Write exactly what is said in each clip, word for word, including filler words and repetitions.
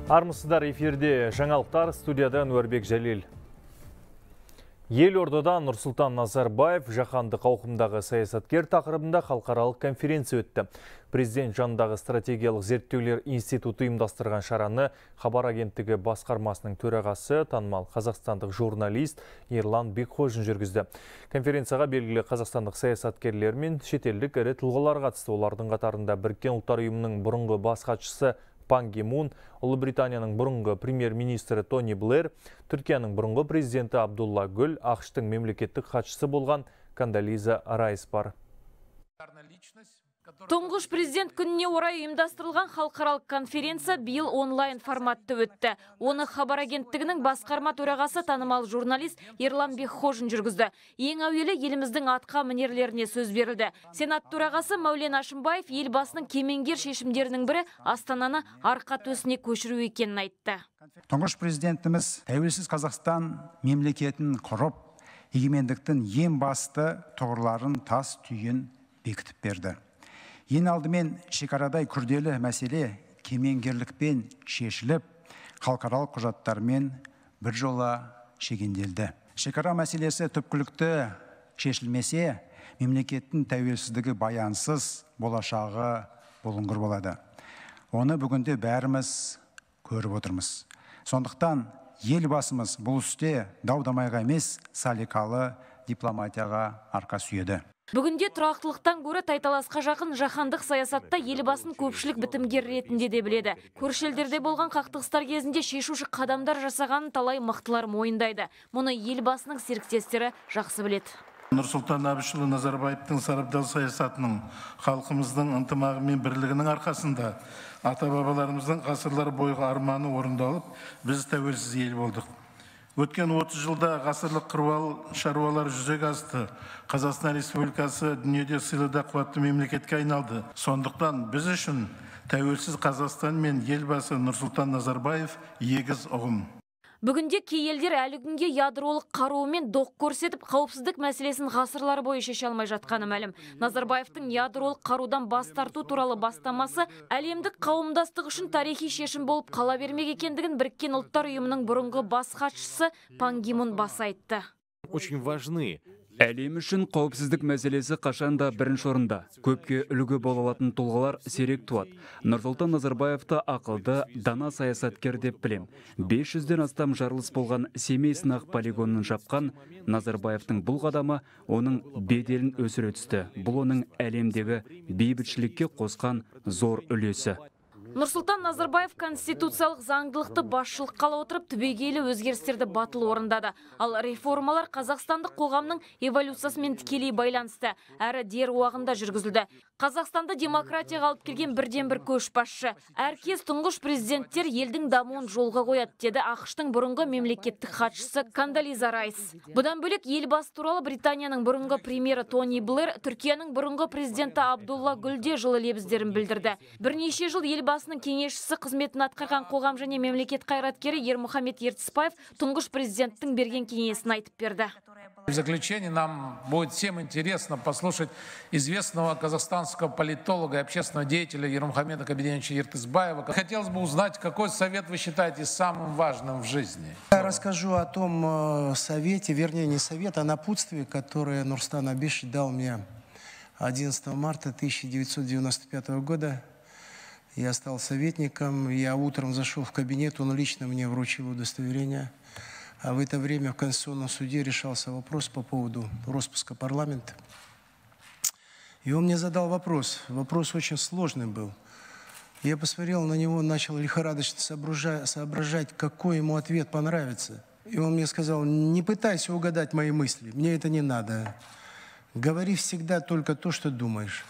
Армысыздар, эфирде жаңалықтар, студияда Нұрбек Жәлел. Елордада Нұрсұлтан Назарбаев жаһандық ауқымдағы саясаткер тақырыбында халықаралық конференция өтті. Президент жанындағы стратегиялық зерттеулер институты ұйымдастырған шараны Хабар агенттігі басқармасының төрағасы, танымал қазақстандық журналист Ерлан Бекхожин жүргізді. Конференцияға белгілі қазақстандық саясаткерлер мен шетелдік ірі тұлғалар қатысты. Олардың қатарында Біріккен ұлттар ұйымының бұрынғы бас хатшысы Пан Ги Мун, Ұлыбританияның бұрынғы премьер-министрі Тони Блэр, Түркияның бұрынғы президенті Абдулла Гүл, ақш-тың мемлекеттік хатшысы болған Кондолиза Райс бар. Тұңғыш президент күніне орай ұйымдастырылған халықаралық конференция биыл онлайн форматты өтті. Оны Хабар агенттігінің басқарма төрағасы, танымал журналист Ерлан Бекхожин жүргізді. Ең әуелі еліміздің атқа мінерлеріне сөз берілді. Сенат төрағасы Мәулен Әшімбаев елбасының кемеңгер шешімдерінің бірі Астананы арқа төсіне көшіру екенін айтты. Тұңғыш президентіміз тәуелсіз Қазақстан мемлекетін құрып, егемендіктің ең басты тұғырларын, тас түйін бекітіп берді. Ең алдымен шекарадай күрделі мәселе кемеңгерлікпен шешіліп, халықаралық құжаттармен бір жола шегенделді. Шекара мәселесі түпкілікті шешілмесе, мемлекеттің тәуелсіздігі баянсыз, болашағы бұлыңғыр болады. Оны бүгінде бәріміз көріп отырмыз. Сондықтан елбасымыз бұл істе дау-дамайға емес, салиқалы дипломатияға арқа сүйеді. Бүгінде тұрақтылықтан гөрі тайталасқа жақын жаһандық саясатта елбасын көпшілік бітімгер ретінде де біледі. Көрші елдерде болған қақтығыстар кезінде шешуші қадамдар жасағанын талай мықтылар мойындайды. Мұны елбасының серіктестері жақсы біледі. Нұрсұлтан Әбішұлы Назарбаевтың сарабдал саясатының, халқымыздың ынтымағы мен бірлігінің арқасында ата-бабаларымыздың ғасырлар бойғы арманы орындалып, біз тәуелсіз ел болдық. Өткен отыз жылда ғасырлық қыруар шаруалар жүзеге асты. Қазақстан Республикасы дүниеде сыйлы да қуатты мемлекетке айналды. Сондықтан біз үшін тәуелсіз Қазақстан мен елбасы Нұрсұлтан Назарбаев егіз ұғым. Бүгінде кей елдер әлі күнге ядролық қаруымен доқ көрсетіп, қауіпсіздік мәселесін ғасырлар бойы шеше алмай жатқаны мәлім. Назарбаевтың ядролық қарудан бас тарту туралы бастамасы әлемдік қауымдастық үшін тарихи шешім болып қала бермек екендігін Біріккен ұлттар ұйымының бұрынғы бас хатшысы Пан Ги Мун баса айтты. Очень важны. Әлем үшін қауіпсіздік мәселесі қашанда бірінші орында. Көпке үлгі бола алатын тұлғалар сирек туады. Нұрсұлтан Назарбаевты ақылды, дана саясаткер деп білем. бес жүзден астам жарылыс болған Семей сынақ полигонын жапқан Назарбаевтың бұл қадамы оның беделін өсіре түсті. Бұл оның әлемдегі бейбітшілікке қосқан зор үлесі. Нұрсұлтан Назарбаев конституциялық заңдылықты басшылыққа ала отырып түбегейлі өзгерістерді батыл орындады. Ал реформалар қазақстандық қоғамның эволюциясымен тікелей байланысты, әрі дер уақытында жүргізілді. Қазақстанды демократияға алып келген бірден бір көшбасшы. Әркез тұңғыш президенттер елдің дамуын жолға қояды, деді ақш-тың бұрынғы мемлекеттік хатшысы Кондолиза Райс. Бұдан бөлек елбасы туралы Британияның бұрынғы премьері Тони Блэр, Түркияның бұрынғы президенті Абдулла Гүл де жылы лебіздерін білдірді. Бірнеше жыл елбасының кеңесшісі қызметін атқарған қоғам және мемлекет қайраткері Ермұхамед Ертісбаев тұңғыш президенттің берген кеңесін айтып берді. В заключение нам будет всем интересно послушать известного казахстанского политолога и общественного деятеля Ермухамеда Кабиденовича Ертысбаева. Хотелось бы узнать, какой совет вы считаете самым важным в жизни? Я расскажу о том совете, вернее не совет, а напутствии, которое Нурсултан Абишевич дал мне одиннадцатого марта тысяча девятьсот девяносто пятого года. Я стал советником, я утром зашел в кабинет, он лично мне вручил удостоверение. А в это время в Конституционном суде решался вопрос по поводу распуска парламента. И он мне задал вопрос. Вопрос очень сложный был. Я посмотрел на него, начал лихорадочно соображать, соображать, какой ему ответ понравится. И он мне сказал: не пытайся угадать мои мысли, мне это не надо. Говори всегда только то, что думаешь.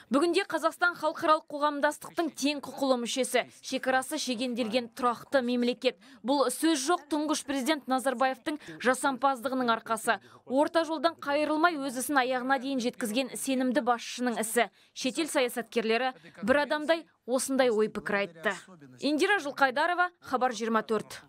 Бүгінде Қазақстан халықаралық қоғамдастықтың тең құқылы мүшесі, шекарасы шегенделген тұрақты мемлекет. Бұл сөз жоқ тұңғыш президент Назарбаевтың жасампаздығының арқасы. Орта жолдан қайырылмай өз ісін аяғына дейін жеткізген сенімді басшының ісі. Шетел саясаткерлері бір адамдай осындай ой пікір айтты. Индира Жылқайдарова, Хабар жиырма төрт.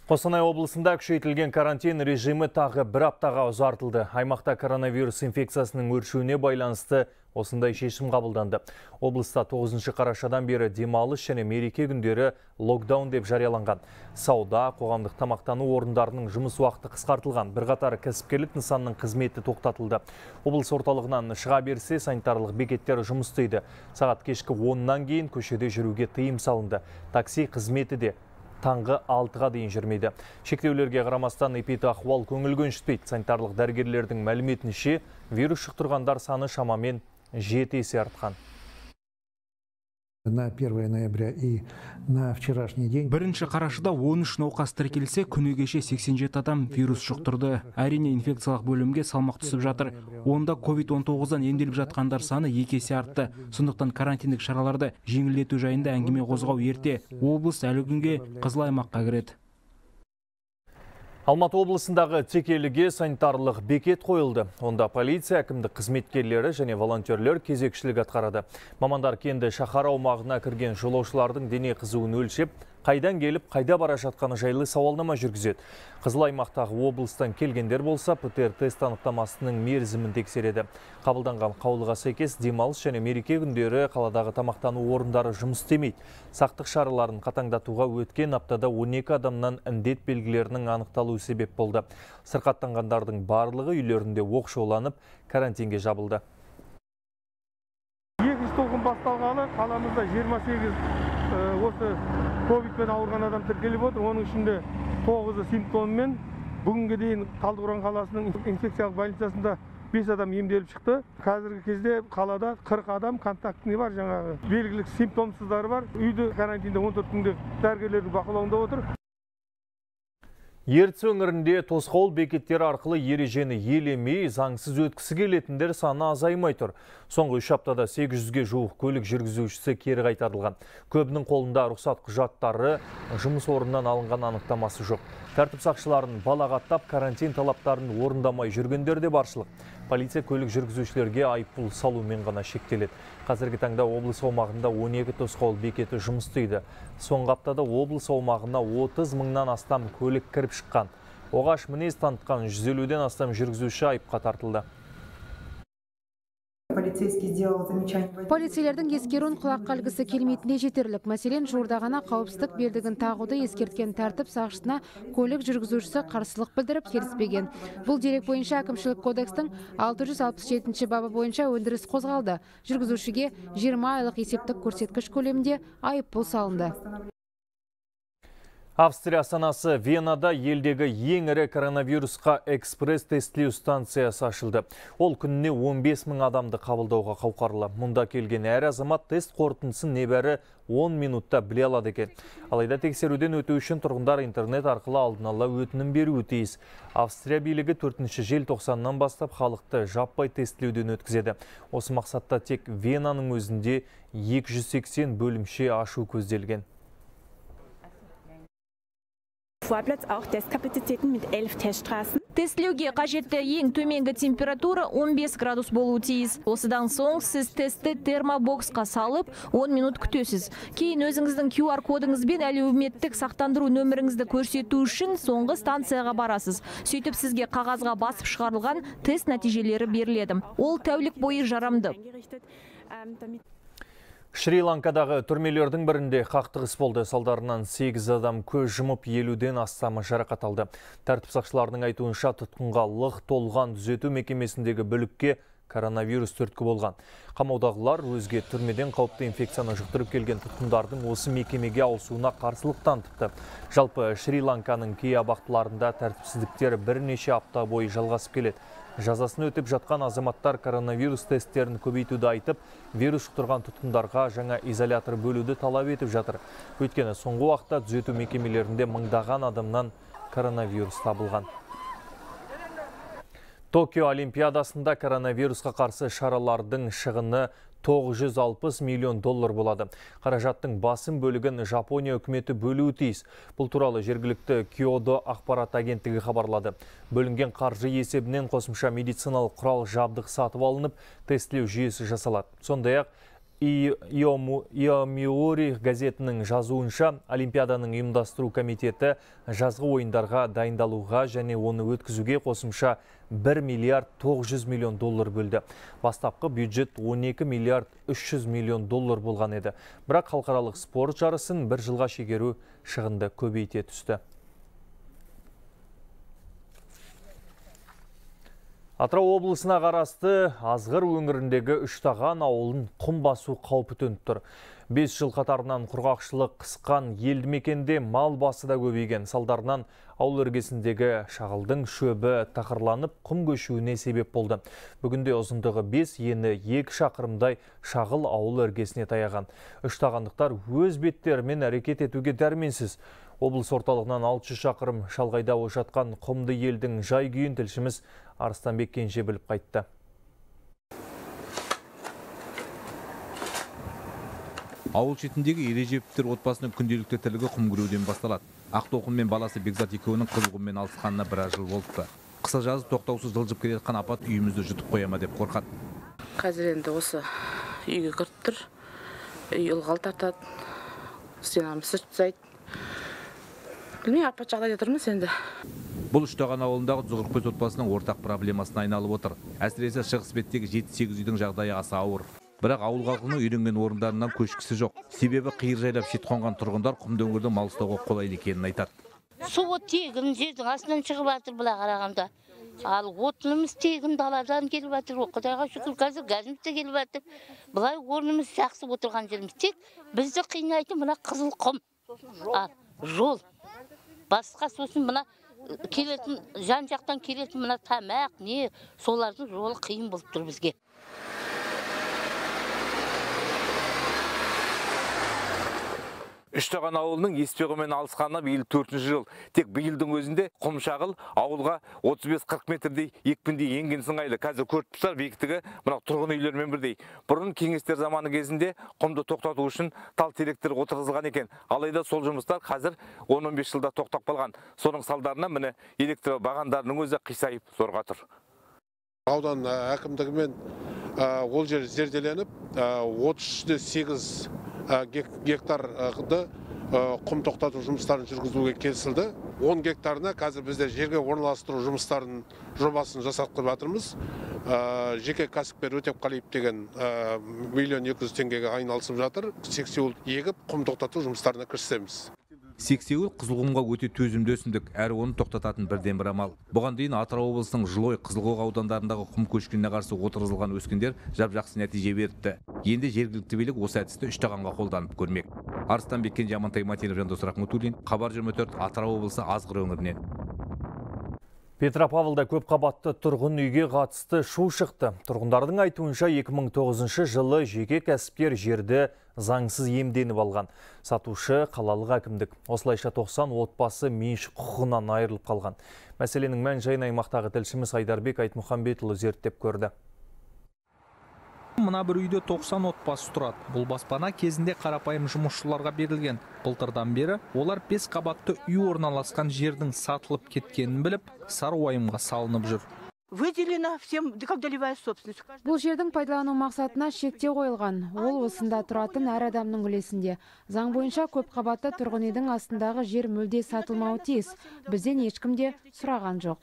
Қостанай облысында күшейтілген карантин режимі тағы бір аптаға ұзартылды. Аймақта коронавирус инфекциясының өршуіне байланысты осындай шешім қабылданды. Облыста тоғызыншы қарашадан бері демалыс және мереке күндері локдаун деп жарияланған. Сауда, қоғамдық тамақтану орындарының жұмыс уақыты қысқартылған. Бірқатар кәсіпкерлік нысанның қызметі тоқтатылды. Облыс орталығынан шыға берсе санитарлық бекеттер жұмыс істейді. Сағат кешкі оннан кейін көшеде жүруге тыйым салынды. Такси қызметі де таңғы алтыға дейін жүрмейді. Шектеулерге қарамастан эпидахуал көңіл көншітпейді. Санитарлық дәрігерлердің мәліметінше вирус жұқтырғандар саны шамамен жеті есе артқан. На первое ноября и на вчерашний день. Бірінші қарашада он үш науқас тіркелсе, күні кеше сексен жеті адам вирус жұқтырды. Әрине инфекциялық бөлімге салмақ түсіп жатыр. Онда ковид он тоғыздан емделіп жатқандар саны екі есе артты. Сондықтан карантиндік шараларды жеңілдету жайында әңгіме қозғау ерте. Облыс әлі күнге қызыл аймаққа кіреді. Алматы облысындағы текеліге санитарлық бекет қойылды. Онда полиция, әкімдік қызметкерлері және волонтерлер кезекшілік атқарады. Мамандар кенді шаһар аумағына кірген жолаушылардың дене қызуын өлшеп, қайдан келіп, қайда бара жатқаны жайлы сауалнама жүргізеді. Қызыл аймақтағы облыстан келгендер болса, ПЦР тест анықтамасының мерзімін тексереді. Қабылданған қаулыға сәйкес демалыс және мереке күндері қаладағы тамақтану орындары жұмыс істемейді. Сақтық шараларын қатаңдатуға өткен аптада он екі адамнан індет белгілерінің анықталуы себеп болды. Сырқаттанғандардың барлығы үйлерінде оқшауланып, карантинге жабылды. Екінші толқын басталғалы қаламызда жиырма сегіз осы ковидпен ауырған адам тіркеліп отыр. Оның ішінде тоғызы симптоммен. Бүгінге дейін Талдықорған қаласының инфекциялық больницасында бес адам емделіп шықты. Қазіргі кезде қалада қырық адам контактіне бар, жаңағы белгілік симптомсыздары бар. Үйде карантинде он төрт күнде дәрігерлердің бақылауында отыр. Ертіс өңірінде тосқауыл бекеттері арқылы ережені елемей, заңсыз өткісі келетіндер саны азаймай тұр. Соңғы үш аптада сегіз жүзге жуық көлік жүргізушісі кері қайтарылған. Көбінің қолында рұқсат құжаттары, жұмыс орнынан алынған анықтамасы жоқ. Тәртіп сақшыларын балағаттап, карантин талаптарын орындамай жүргендер де баршылық. Полиция көлік жүргізушілерге айыппұл салумен ғана шектеледі. Қазіргі таңда облыс аумағында он екі тосқауыл бекеті жұмыс істейді. Соңғы аптада облыс аумағына отыз мыңнан астам көлік кіріп шыққан. Оғаш мінез танытқан жүз елуден астам жүргізуші айыпқа тартылды. Полицейлердің ескеруін құлаққа ілгісі келмейтіне жетерлік. Мәселен, жуырда ғана қауіпсіздік белдігін тағуды ескерткен тәртіп сақшысына көлік жүргізушісі қарсылық білдіріп келіспеген. Бұл дерек бойынша әкімшілік кодекстің алты жүз алпыс жетінші бабы бойынша өндіріс қозғалды. Жүргізушіге жиырма айлық есептік көрсеткіш көлемінде айыппұл салынды. Австрия астанасы Венада елдегі ең ірі коронавирусқа экспресс-тестлеу станциясы ашылды. Ол күніне он бес мың адамды қабылдауға қауқарлы. Мұнда келген әр азамат тест қорытындысын небәрі он минутта біле алады екен. Алайда тексеруден өту үшін тұрғындар интернет арқылы алдын ала өтінім беруі тиіс. Австрия билігі төртінші желтоқсаннан бастап халықты жаппай тестлеуден өткізеді. Осы мақсатта тек Венаның өзінде екі жүз сексен бөлімше ашу көзделген. Тестлеуге қажетті ең төменгі температура он бес градус болуы тиіс. Осыдан соң сіз тестті термобоксқа салып он минут күтесіз. Кейін өзіңіздің ку ар кодыңызбен әлеуметтік сақтандыру нөміріңізді көрсету үшін соңғы станцияға барасыз. Сөйтіп сізге қағазға басып шығарылған тест нәтижелері беріледі. Ол тәулік бойы жарамды. Шри-Ланкадағы түрмелердің бірінде қақтығыс болды. Салдарынан сегіз адам көз жұмып, елуден астамы жарақат алды. Тәртіп сақшыларының айтуынша тұтқынға лық толған түзету мекемесіндегі бүлікке коронавирус түрткі болған. Қамаудағылар өзге түрмеден қауіпті инфекцияны жұқтырып келген тұтқындардың осы мекемеге ауысуына қарсылық танытыпты. Жалпы Шри-Ланканың кей абақтыларында тәртіпсіздіктер бірнеше апта бойы жалғасып келеді. Жазасын өтіп жатқан азаматтар коронавирус тесттерін көбейтуді айтып, вирус жұқтырған тұтқындарға жаңа изолятор бөлуді талап етіп жатыр. Өйткені соңғы уақытта түзету мекемелерінде мыңдаған адамнан коронавирус табылған. Токио Олимпиадасында коронавирусқа қарсы шаралардың шығыны тоғыз жүз алпыс миллион доллар болады. Қаражаттың басым бөлігін Жапония үкіметі бөлуі тиіс. Бұл туралы жергілікті Киодо ақпарат агенттігі хабарлады. Бөлінген қаржы есебінен қосымша медициналық құрал жабдық сатып алынып, тестлеу жүйесі жасалады. Сондай-ақ Иомиори газетінің жазуынша, Олимпиаданың ұйымдастыру комитеті жазғы ойындарға дайындалуға және оны өткізуге қосымша бір миллиард тоғыз жүз миллион доллар бөлді. Бастапқы бюджет он екі миллиард үш жүз миллион доллар болған еді. Бірақ халықаралық спорт жарысын бір жылға шегеру шығынды көбейте түсті. Атырау облысына қарасты Азғыр өңіріндегі Үштаған ауылын құм басу қаупі төніп тұр. бес жыл қатарынан құрғақшылық қысқан елді мекенде мал басы да көбейген. Салдарынан ауыл іргесіндегі шағылдың шөбі тақырланып құм көшуіне себеп болды. Бүгінде ұзындығы бес, ені екі шақырымдай шағыл ауыл іргесіне таяған. Үштағандықтар өз беттерімен әрекет етуге дәрменсіз. Облыс орталығынан алты жүз шақырым шалғайда ошатқан құмды елдің жай күйін тілшіміз Арыстанбек Кенже біліп қайтты. Ауыл шетіндегі Ережеповтер отбасының күнделікті тірлігі құм күреуден басталады. Ақтоқым мен баласы Бекзат екеуінің қызылғымен алысқанына біраз жыл болыпты. Қыса жазы тоқтаусыз жылжып келе жатқан апат үйімізді жұтып қояма деп қорқады. Қазір енді осы үйге кіріп тұр, үй ылғал тартады, стенамыз сыртсайды. Білмей, апат жағдайда тұрмыз енді. Бұл Үштаған ауылындағы Зұғыркөз отбасының ортақ проблемасына айналып отыр. Әсіресе шығыс беттегі жеті-сегіз үйдің жағдайы аса ауыр. Бірақ ауыл халқының үйренген орындарынан көшкісі жоқ. Себебі қиыр жайлап шет қонған тұрғындар құмды өңірді мал ұстауға қолайлы екенін айтады. Суы тегін жердің астынан шығып жатыр бұла қарағанда. Ал отынымыз тегін даладан келіп жатыр. Құдайға шүкір, қазір газымыз да келіп жатыр. Бұлай орнымыз жақсы отырған жеріміз. Тек бізді қинайтын мына қызыл құм. Ал жол. Басқа сосын мына келетін, жан жақтан келетін мына тамақ, не, солардың жолы қиын болып тұр бізге. Үштаған ауылының еспеғімен алысқанына биыл төртінші жыл. Тек биылдың өзінде құмшағыл ауылға отыз бес қырық метрдей екпіндей енген сыңайлы. Қазір көріп тұрсыздар, биіктігі мына тұрғын үйлермен бірдей. Бұрын кеңестер заманы кезінде құмды тоқтату үшін тал теректер отырғызылған екен. Алайда сол жұмыстар қазір он он бес жылда тоқтап қалған. Соның салдарынан міне электр бағандарының өзі қисайып зорға тұр. Аудан әкімдігімен ол жер зерделеніп, отыз сегіз гектарды құм тоқтату жұмыстарын жүргізуге келісілді. он гектарына қазір бізде жерге орналастыру жұмыстарын жобасын жасақтап жатырмыз. Жеке кәсіпкер Өтепқалиев деген миллион екі жүз теңгеге айналысып жатыр. Сексеуіл егіп құм тоқтату жұмыстарына кірісеміз. Сексеуіл қызылқұмға өте төзімді өсімдік, әрі оны тоқтататын бірден бір амал. Бұған дейін Атырау облысының Жылой, Қызылқоға аудандарындағы құм көшкініне қарсы отырғызылған өскіндер жап-жақсы нәтиже беріпті. Енді жергілікті билік осы әдісті Үштағанға қолданып көрмек. Арыстанбек Кенже, Амантай Матенов, Жандос Рахметуллин, Хабар жиырма төрт, Атырау облысы Азғыр өңірінен. Петропавлда көп қабатты тұрғын үйге қатысты шу шықты. Тұрғындардың айтуынша екі мың тоғызыншы жылы жеке кәсіпкер жерді заңсыз иемденіп алған. Сатушы қалалық әкімдік. Осылайша тоқсан отбасы меншік құқығынан айырылып қалған. Мәселенің мән-жайын аймақтағы тілшіміз Айдарбек Айтмұхамбетұлы зерттеп көрді. Мына бір үйде тоқсан отбасы тұрады. Бұл баспана кезінде қарапайым жұмысшыларға берілген. Былтырдан бері олар бес қабатты үй орналасқан жердің сатылып кеткенін біліп, сары уайымға салынып жүр. Выделена всем как долевая собственность. Бұл жердің пайдалану мақсатына шектеу қойылған. Ол осында тұратын әр адамның үлесінде. Заң бойынша көп қабатты тұрғын үйдің астындағы жер мүлде сатылмауы тиіс. Бізден ешкім де сұраған жоқ.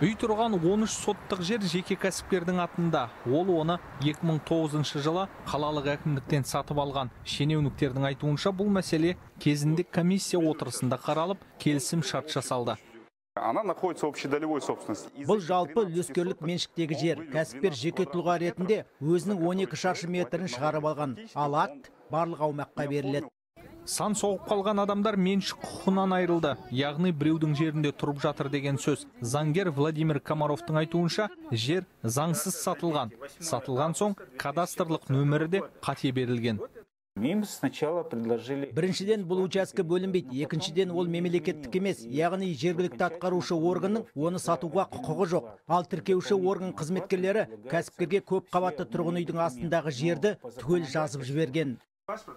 Үй тұрған он үш соттық жер жеке кәсіпкердің атында. Ол оны екі мың тоғызыншы жылы қалалық әкімдіктен сатып алған. Шенеуніктердің айтуынша бұл мәселе кезінде комиссия отырысында қаралып, келісім шарт жасалды. Она находится в общедолевой собственности. Бұл жалпы үлескерлік меншіктегі жер. Кәсіпкер жеке тұлға ретінде өзінің он екі шаршы метрін шығарып алған. Ал акт барлық аумаққа беріледі. Сан соғып қалған адамдар меншік құқығынан айырылды. Яғни біреудің жерінде тұрып жатыр деген сөз. Заңгер Владимир Комаровтың айтуынша, жер заңсыз сатылған. Сатылған соң кадастрлық нөмірі де қате берілген. Біріншіден бұл участке бөлінбейді, екіншіден ол мемлекеттік емес, яғни жергілікті атқарушы органның оны сатуға құқығы жоқ. Ал тіркеуші орган қызметкерлері кәсіпкерге көп қабатты тұрғын үйдің астындағы жерді түгел жазып жіберген.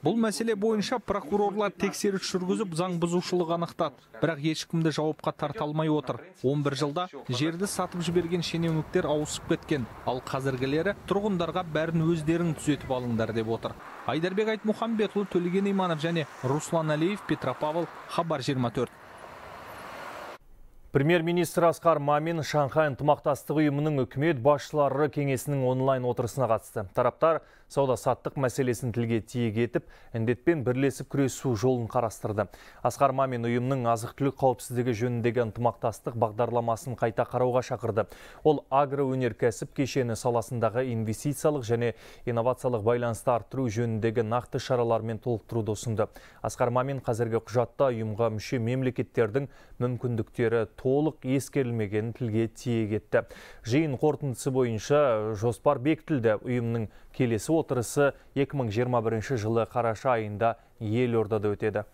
Бұл мәселе бойынша прокурорлар тексеріс жүргізіп заң бұзушылық анықтады. Бірақ ешкімді жауапқа тарта алмай отыр. он бір жылда жерді сатып жіберген шенеуніктер ауысып кеткен. Ал қазіргілері тұрғындарға бәрін өздерің түзетіп алыңдар деп отыр. Айдарбек Айтмұхамбетұлы, Төлеген Иманов және Руслан Алиев, Петропавл, Хабар жиырма төрт. Премьер-министр Асқар Мамин Шанхай ынтымақтастық ұйымының үкімет басшылары кеңесінің онлайн отырысына қатысты. Тараптар сауда-саттық мәселесін тілге тиек етіп, індетпен бірлесіп күресу жолын қарастырды. Асқар Мамин ұйымның азық-түлік қауіпсіздігі жөніндегі ынтымақтастық бағдарламасын қайта қарауға шақырды. Ол агроөнеркәсіп кешені саласындағы инвестициялық және инновациялық байланысты арттыру жөніндегі нақты шаралармен толықтыруды ұсынды. Асқар Мамин қазіргі құжатта ұйымға мүше мемлекеттердің мүмкіндіктері толық ескерілмеген тілге тиек етті. Жиын қорытындысы бойынша жоспар бекітілді. Ұйымның келесі отырысы екі мың жиырма бірінші жылы қараша айында Елордада өтеді.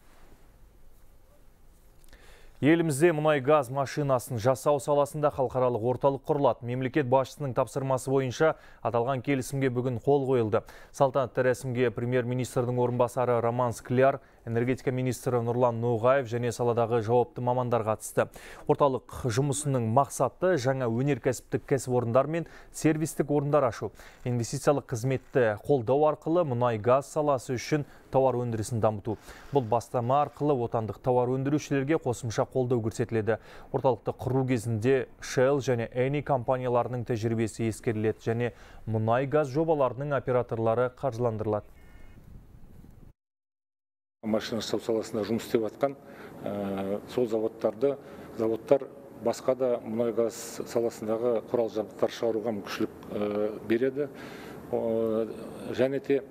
Елімізде мұнай-газ машинасын жасау саласында халықаралық орталық құрылады. Мемлекет басшысының тапсырмасы бойынша аталған келісімге бүгін қол қойылды. Салтанатты рәсімге премьер-министрдің орынбасары Роман Скляр, энергетика министрі Нұрлан Ноғаев және саладағы жауапты мамандар қатысты. Орталық жұмысының мақсаты жаңа өнеркәсіптік кәсіпорындар мен сервистік орындар ашу. Инвестициялық қызметті қолдау арқылы мұнай-газ саласы үшін тауар өндірісін дамыту. Бұл бастама арқылы отандық тауар өндірушілерге қосымша қолдау көрсетіледі. Орталықты құру кезінде Shell және Eni компанияларының тәжірибесі ескеріледі және мұнай-газ жобаларының операторлары қаржыландырылады. Машина жасау саласында жұмыс істеп жатқан сол заводтарды, заводтар басқа да мұнай-газ саласындағы құрал жабдықтар шығаруға мүмкіншілік береді. Және де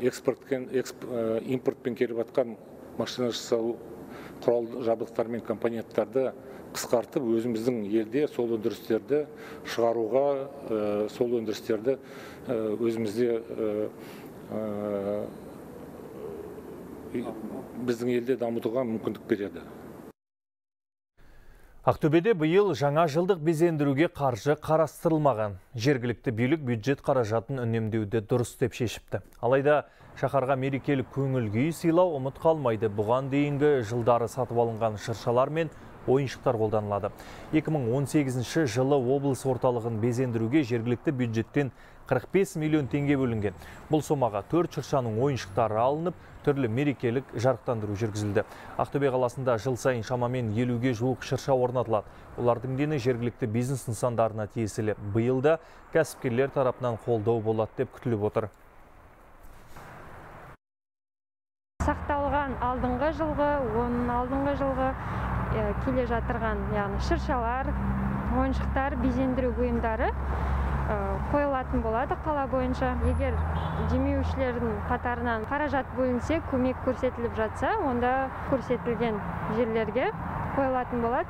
импортпен келіп жатқан машина жасау құрал жабдықтар мен компоненттарды қысқартып, өзіміздің елде сол өндірістерді шығаруға, сол өндірістерді өзімізде біздің елде дамытуға мүмкіндік береді. Ақтөбеде биыл жаңа жылдық безендіруге қаржы қарастырылмаған. Жергілікті билік бюджет қаражатын үнемдеуді дұрыс деп шешіпті. Алайда шаһарға мерекелік көңіл күй сыйлау ұмыт қалмайды. Бұған дейінгі жылдары сатып алынған шыршалар мен ойыншықтар қолданылады. екі мың он сегізінші жылы облыс орталығын безендіруге жергілікті бюджеттен қырық бес миллион теңге бөлінген. Бұл сомаға төрт шыршаның ойыншықтары алынып, түрлі мерекелік жарықтандыру жүргізілді. Ақтөбе қаласында жыл сайын шамамен елуге жуық шырша орнатылады. Олардың дені жергілікті бизнес нысандарына тиесілі. Биылда кәсіпкерлер тарапынан қолдау болады деп күтіліп отыр. Сақталған алдыңғы жылғы, оның алдыңғы жылғы келе жатырған, яғни шыршалар, ойыншықтар, безендіру бұйымдары қойылатын болады қала бойынша. Егер демеушілердің қатарынан қаражат бөлінсе, көмек көрсетіліп жатса, онда көрсетілген жерлерге қойылатын болады.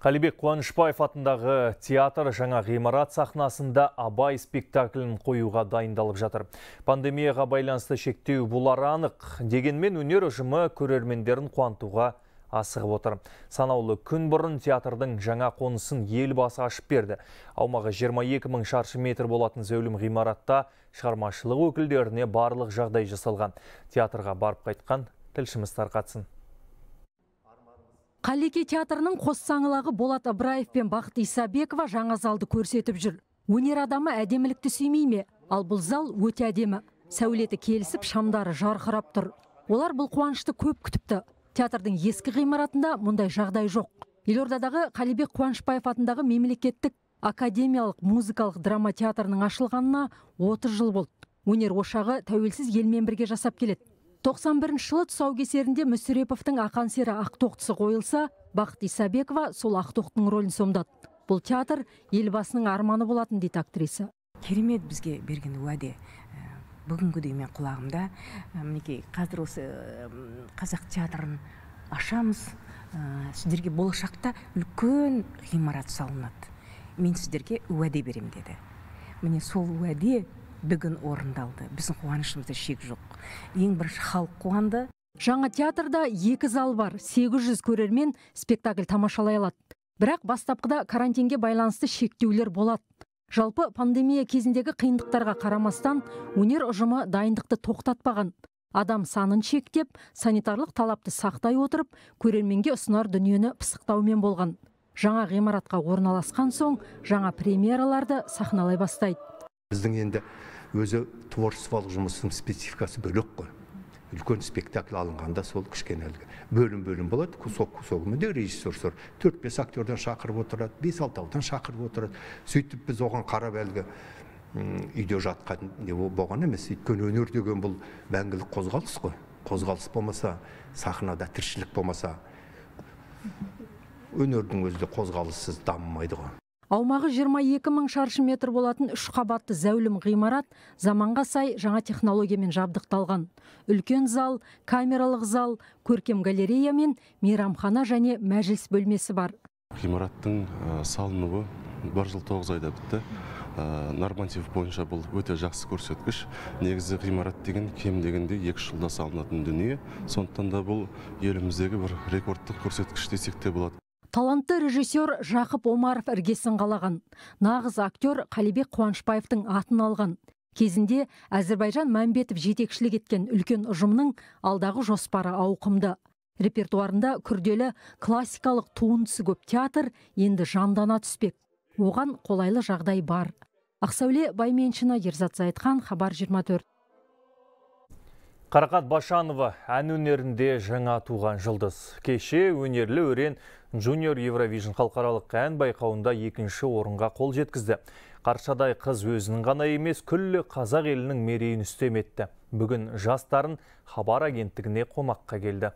Қалибек Қуанышбаев атындағы театр жаңа ғимарат сахнасында Абай спектаклін қоюға дайындалып жатыр. Пандемияға байланысты шектеу болары анық. Дегенмен өнер ұжымы көрермендерін қуантуға асығып отыр. Санаулы күн бұрын театрдың жаңа қонысын елбасы ашып берді. Аумағы жиырма екі мың шаршы метр болатын зәулім ғимаратта шығармашылық өкілдеріне барлық жағдай жасалған. Театрға барып қайтқан тілшіміз тарқатсын. Қалеке театрының қос саңылағы Болат Ыбыраев пен Бақыт Исабекова жаңа залды көрсетіп жүр. Өнер адамы әдемілікті сүймей ме? Ал бұл зал өте әдемі. Сәулеті келісіп, шамдары жарқырап тұр. Олар бұл қуанышты көп күтіпті. Театрдың ескі ғимаратында мұндай жағдай жоқ. Елордадағы Қалибек Қуанышбаев атындағы мемлекеттік академиялық музыкалық драма театрының ашылғанына отыз жыл болды. Өнер ошағы тәуелсіз елмен бірге жасап келеді. тоқсан бірінші жылы тұсаукесерінде Мүсіреповтің Ақан сері Ақтоқтысы қойылса, Бақыт Исабекова сол Ақтоқтың рөлін сомдады. Бұл театр елбасының арманы болатын дейді актриса. Керемет бізге берген уәде. Бүгінгідей мен құлағымда, мінекей қазір осы қазақ театрын ашамыз, сіздерге болашақта үлкен ғимарат салынады. Мен сіздерге уәде берем деді. Міне сол уәде бүгін орындалды. Біздің қуанышымызда шек жоқ. Ең бірінші халық қуанды. Жаңа театрда екі зал бар, сегіз жүз көрермен спектакль тамашалай алады. Бірақ бастапқыда карантинге байланысты шектеулер болады. Жалпы пандемия кезіндегі қиындықтарға қарамастан өнер ұжымы дайындықты тоқтатпаған. Адам санын шектеп, санитарлық талапты сақтай отырып, көрерменге ұсынар дүниені пысықтаумен болған. Жаңа ғимаратқа орналасқан соң, жаңа премьераларды сахналай бастайды. Біздің енді өзі творчестволық жұмыстың спецификасы бөлек қой. Үлкен спектакль алынғанда сол кішкенелігі бөлім-бөлім болады, кусок-кусогымен де режиссер төрт-бес актерден шақырып отырады, бес-алтаудан шақырып отырады. Сөйтіп біз оған қарап әлгі үйде жатқан не болған емес. Өйткені өнер деген бұл мәңгілік қозғалыс қой. Қозғалыс болмаса, сахнада тіршілік болмаса, өнердің өзі де қозғалыссыз дамымайды ғой. Аумағы жиырма екі мың шаршы метр болатын үш қабатты зәулім ғимарат заманға сай жаңа технологиямен жабдықталған. Үлкен зал, камералық зал, көркем галерея мен мейрамхана және мәжіліс бөлмесі бар. Ғимараттың салынуы бір жыл тоғыз айда бітті. Норматив бойынша бұл өте жақсы көрсеткіш. Негізі ғимарат деген кем дегенде екі жылда салынатын дүние. Сондықтан да бұл еліміздегі бір рекордтық көрсеткіш десек те болады. Талантты режиссер Жақып Омаров іргесін қалаған. Нағыз актер Қалибек Қуанышбаевтың атын алған. Кезінде Әзірбайжан Мәмбетов жетекшілік еткен үлкен ұжымның алдағы жоспары ауқымды. Репертуарында күрделі классикалық туындысы көп театр енді жандана түспек. Оған қолайлы жағдай бар. Ақсәуле Байменшина, Ерзат Зайытхан, Хабар жиырма төрт. Қарақат Башанова ән өнерінде жаңа туған жұлдыз. Кеше өнерлі өрен Junior Eurovision халықаралық ән байқауында екінші орынға қол жеткізді. Қаршадай қыз өзінің ғана емес, күллі қазақ елінің мерейін үстем етті. Бүгін жастарын Хабар агенттігіне қонаққа келді.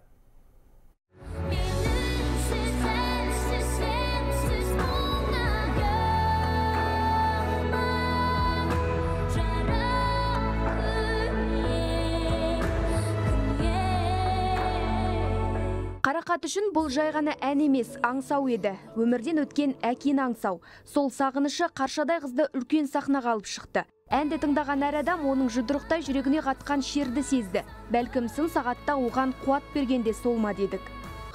Қарақат үшін бұл жай ғана ән емес, аңсау еді. Өмірден өткен әкені аңсау. Сол сағынышы Қаршадай қызды үлкен сахнаға алып шықты. Әнді тыңдаған әр адам оның жұдырықтай жүрегіне қатқан шерді сезді. Бәлкім сын сағатта оған қуат бергенде сол ма дедік.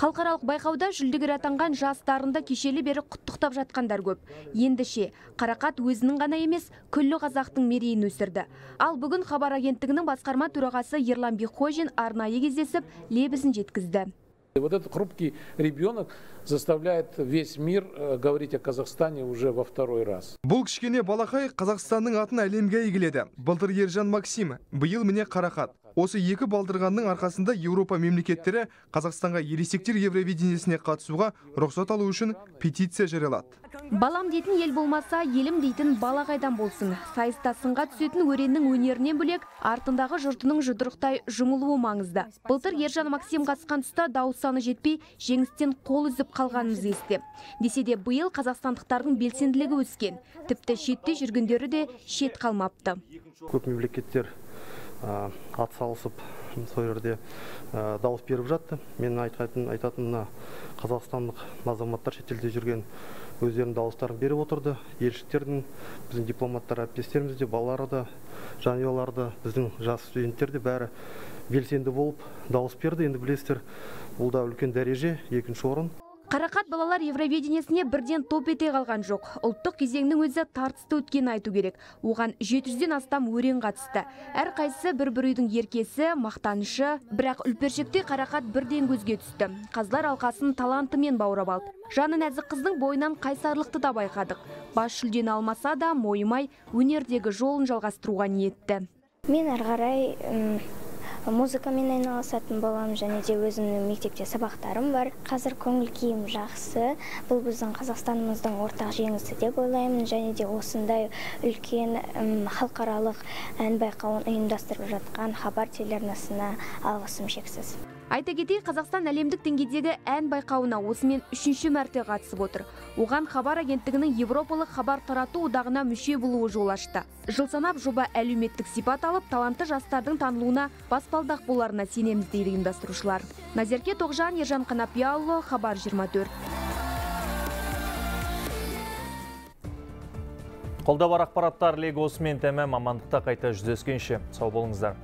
Халықаралық байқауда жүлдегер атанған жастарында кешелі бері құттықтап жатқандар көп. Ендіше, Қарақат өзінің ғана емес, күллі қазақтың мерейін өсірді. Ал бүгін Хабар агенттігінің басқарма төрағасы Ерлан Бекхожин арнайы кездесіп, лебізін жеткізді. Вот этот хрупкий ребенок заставляет весь мир говорить о Казахстане уже во второй раз. Бұл кішкене балақай Қазақстанның атын әлемге әйгіледі. Былтыр Ержан Максим, биыл міне Қарақат. Осы екі балдырғанның арқасында Еуропа мемлекеттері Қазақстанға ересектер Евровидениесіне қатысуға рұқсат алу үшін петиция жариялады. Балам дейтін ел болмаса, елім дейтін бала қайдан болсын. Сайыста сынға түсетін өреннің өнерінен бөлек, артындағы жұртының жұдырықтай жұмылуы маңызды. Былтыр Ержан Максим қатысқан тұста дауыс саны жетпей, жеңістен қол үзіп қалғанымыз есте. Десе де биыл қазақстандықтардың белсенділігі өскен. Тіпті шетте жүргендері де шет қалмапты. Көп мемлекеттер ат салысып, сол жерде дауыс беріп жатты. Мен айтатынына қазақстандық азаматтар шетелде жүрген өздерінің дауыстарын беріп отырды. Елшілердің, біздің дипломаттар әріптестеріміз де, балалары да, жанұялары да, біздің жас студенттер де бәрі белсенді болып дауыс берді. Енді білесіздер, бұл да үлкен дәреже, екінші орын. Қарақат балалар Евровидениесіне бірден топ ете қалған жоқ. Ұлттық кезеңнің өзі тартысты өткен айту керек. Оған жеті жүзден астам өрен қатысты. Әр қайсысы бір-бір үйдің еркесі, мақтанышы, бірақ үлпершекте Қарақат бірден көзге түсті. Қазылар алқасын талантымен баурап алды. Жаны нәзік қыздың бойынан қайсарлықты да байқадық. Бас жүлдені алмаса да мойымай өнердегі жолын жалғастыруға ниетті. Мен әрі қарай музыкамен айналысатын боламын, және де өзімнің мектепте сабақтарым бар. Қазір көңіл күйім жақсы. Бұл біздің Қазақстанымыздың ортақ жеңісі деп ойлаймын, және де осындай үлкен халықаралық ән байқауын ұйымдастырып жатқан Хабар телеарнасына алғысым шексіз. Айта кетейік, Қазақстан әлемдік деңгейдегі ән байқауына осымен үшінші мәрте қатысып отыр. Оған Хабар агенттігінің Европалық хабар тарату одағына мүше болуы жол ашты. Жыл санап жоба әлеуметтік сипат алып, талантты жастардың танылуына баспалдақ боларына сенеміз дейді ұйымдастырушылар. Назерке Тоғжан, Ержан Қанапияұлы, Хабар жиырма төрт. Қолда бар ақпараттар легі осымен тәмам, амандықта қайта жүздескенше. Сау болыңыздар.